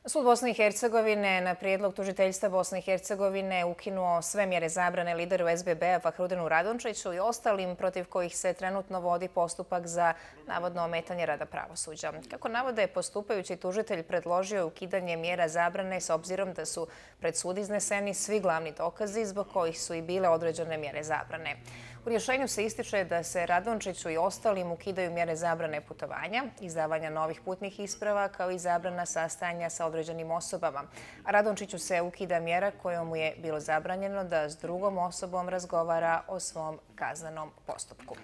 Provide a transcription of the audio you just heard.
Sud Bosne i Hercegovine na prijedlog tužiteljstva Bosne i Hercegovine ukinuo sve mjere zabrane lideru SBB-a Fahrudinu Radončiću i ostalim protiv kojih se trenutno vodi postupak za navodno ometanje rada pravosuđa. Kako navode, postupajući tužitelj predložio je ukidanje mjera zabrane s obzirom da su pred sud izneseni svi glavni dokazi zbog kojih su i bile određene mjere zabrane. U rješenju se ističe da se Radončiću i ostalim ukidaju mjere zabrane putovanja, izdavanja novih putnih isprava kao i zabrana sastajanja sa određenim osobama. A Radončiću se ukida mjera kojom mu je bilo zabranjeno da s drugom osobom razgovara o svom kaznenom postupku.